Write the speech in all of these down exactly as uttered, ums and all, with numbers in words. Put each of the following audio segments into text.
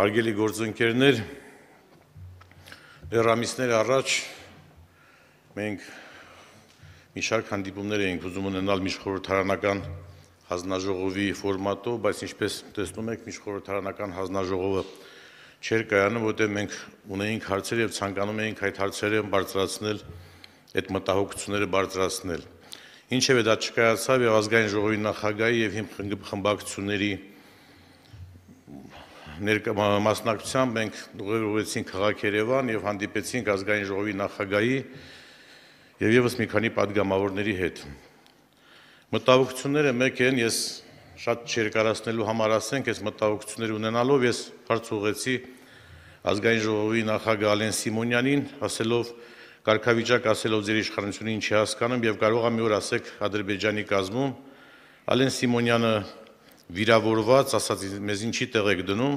Հարգելի գործընկերներ, դեռամիսներ առաջ մենք մի շարք հանդիպումներ էինք ուզում ունենալ միջխորհրդարանական հանձնաժողովի ֆորմատով, բայց ինչպես տեսնում եք, միջխորհրդարանական հանձնաժողովը չէր կայանում, որտեղ մենք ունեինք հարցեր եւ ցանկանում էինք այդ հարցերը բարձրացնել, այդ մտահոգությունները բարձրացնել։ Ինչևէ դա չկայացավ եւ ազգային ժողովի նախագահի եւ խմբակցությունների մասնակցությամբ մենք ուղևորվեցինք քաղաք Երևան եւ հանդիպեցինք ազգային ժողովի նախագահի եւ եւս մի քանի падգամավորների հետ։ Մտահոգությունները մեկ են, ես շատ չերկարացնելու համար ասենք, այս մտահոգությունները ունենալով ես հարց ուղղեցի ազգային ժողովի նախագահ Ալեն Սիմոնյանին, ասելով կարգավիճակ ասելով ձեր իշխանությունը ինչ է հասկանում եւ կարող եմ մի օր ասեք Ադրբեջանի կազմում Ալեն Սիմոնյանը վիրավորված, ասած մեզ ինչի տեղ եք դնում,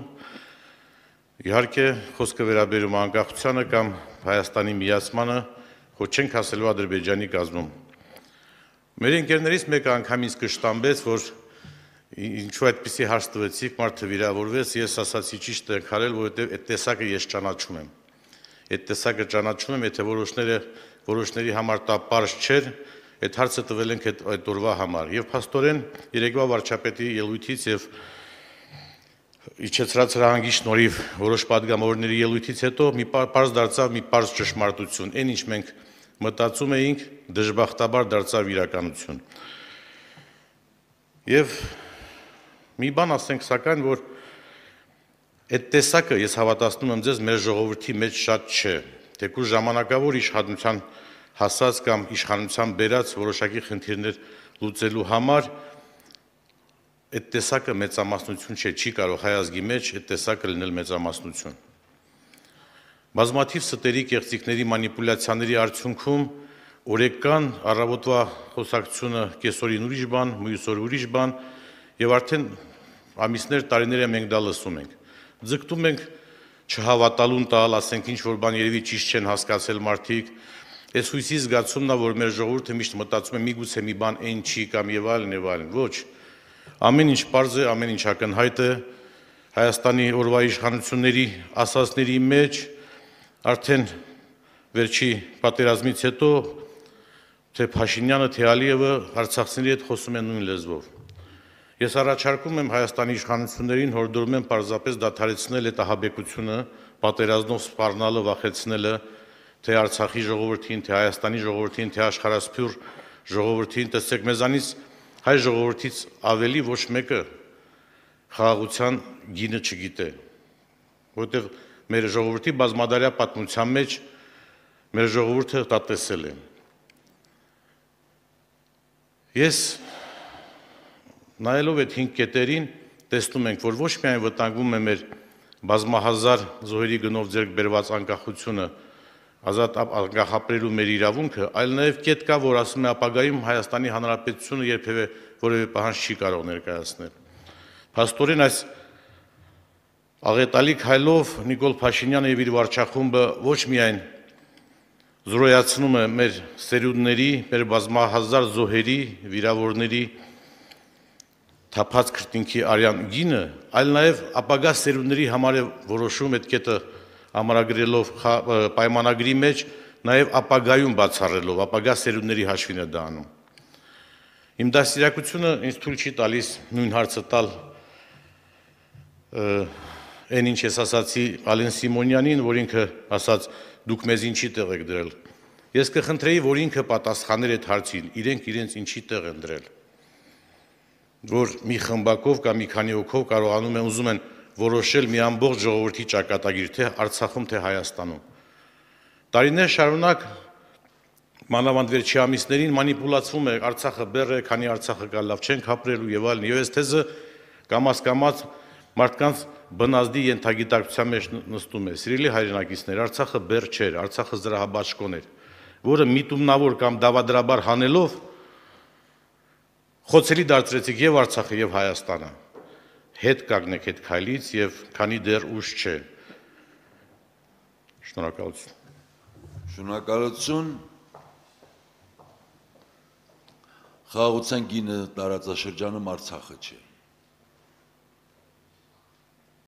իհարկե խոսքը վերաբերում անկախությանը կամ Հայաստանի միացմանը, ոչ չենք ասելու Ադրբեջանի կազմում։ Մեր ընկերներից մեկը անգամ ինձ կշտամբեց, որ ինչու այդպիսի հարց տվեցիք, մարդը վիրավորվեց, ես ասացի ճիշտ եք արել, որովհետև այդ տեսակը ես ճանաչում եմ։ Այդ տեսակը ճանաչում եմ, եթե որոշները որոշների համար դա պարզ չէր, այդ հարցը տվել ենք այդ օրվա համար եւ փաստորեն երեկվա վարչապետի ելույթից եւ իջեցրած հրահանգի շնորհիվ որոշ падգամավորների ելույթից հետո մի պարզ դարձավ մի պարզ ճշմարտություն, այն ինչ մենք մտածում էինք, դժբախտաբար դարձավ իրականություն։ Եվ մի բան ասենք սակայն, որ այդ տեսակը ես հավատացնում եմ ձեզ մեր ժողովրդի մեջ շատ չէ, թեկուզ ժամանակավոր իշխանության հասած կամ իշխանության բերած որոշակի խնդիրներ լուծելու համար այդ տեսակը մեծամասնություն չէ, չի կարող հայ ազգի մեջ այդ տեսակը լինել մեծամասնություն։ Բազմաթիվ ստերի կեղծիքների մանիպուլյացիաների արդյունքում օրեկան առավոտվա խոսակցությունը կեսօրին ուրիշ բան, մյուս օր ուրիշ բան եւ արդեն ամիսներ, տարիներ է մենք դա լսում ենք։ Ձգտում ենք չհավատալուն տալ, ասենք ինչ որ բան երևի ճիշտ չեն հասկացել մարդիկ։ Այս հույսի զգացումն է, որ մեր ժողովուրդը միշտ մտածում է միգուցե մի բան այն չի կամ եւ այլն եւ այլն։ Ոչ։ Ամեն ինչ պարզ է, ամեն ինչ ակնհայտ է։ Հայաստանի օրվա իշխանությունների ասածների մեջ արդեն վերջի պատերազմից հետո թե Փաշինյանը, թե Ալիևը արցախցիների հետ խոսում են նույն լեզվով։ Ես առաջարկում եմ Հայաստանի իշխանություններին, հորդորում եմ պարզապես դադարեցնել այդ ահաբեկությունը, պատերազմով սպառնալը, վախեցնելը, թե Արցախի ժողովրդին, թե Հայաստանի ժողովրդին, թե աշխարհասփյուր ժողովրդին, տեսեք մեզանից հայ ժողովրդից ավելի ոչ մեկը խաղաղության գինը չգիտե, որտեղ մեր ժողովրդի բազմադարյա պատմության մեջ մեր ժողովուրդը դա տեսել է։ Ես նայելով այդ հինգ կետերին տեսնում ենք, որ ոչ միայն վտանգվում է մեր բազմահազար զոհերի գնով ձեռք բերված անկախությունը, ազատ անկախապրելու մեր իրավունքը, այլ նաև կետ կա, որ ասում է ապագայում Հայաստանի Հանրապետությունը երբևէ որևէ պահանջ չի կարող ներկայացնել։ Փաստորեն այս աղետալի քայլով Նիկոլ Փաշինյանը եւ իր վարչախումբը ոչ միայն զրոյացնում է մեր սերունդների, մեր բազմահազար զոհերի, վիրավորների թափած քրտինքի արյան գինը, այլ նաև ապագա սերունդների համար է որոշում այդ կետը ամրագրելով պայմանագրի մեջ, նաև ապագայում բացառելով, ապագա սերունդների հաշվին է դա անում։ Իմ դաստիարակությունը ինձ թույլ չի տալիս նույն հարցը տալ այն ինչ ես ասացի Ալեն Սիմոնյանին, որ ինքը ասաց դուք մեզ ինչի տեղ եք դրել։ Ես կխնդրեի, որ ինքը պատասխաներ այդ հարցին, իրենք իրենց ինչի տեղ են դրել։ Որ մի խմբակով կամ մի քանի հոգով կարողանում են ուզում են որոշել մի ամբողջ ժողովրդի ճակատագիր, թե Արցախում, թե Հայաստանում։ Տարիներ շարունակ մանավանդ վերջի ամիսներին մանիպուլացվում է Արցախը բեռ է, քանի Արցախը կա լավ չենք ապրելու եւ այլն։ Եվ այս թեզը կամաց-կամաց մարդկանց բնազդի ենթագիտակցության մեջ նստում է։ Սիրելի հայրենակիցներ, Արցախը բեռ չէր, Արցախը զրահաբաշխոն էր, որը միտումնավոր կամ դավադրաբար հանելով խոցելի դարձրեցիք եւ Արցախը եւ Հայաստանը։ Հետ կանգնեք այդ քայլից եւ քանի դեռ ուշ չէ։ Շնորհակալություն։ Շնորհակալություն։ Խաղաղության գինը տարածաշրջանում Արցախը չէ։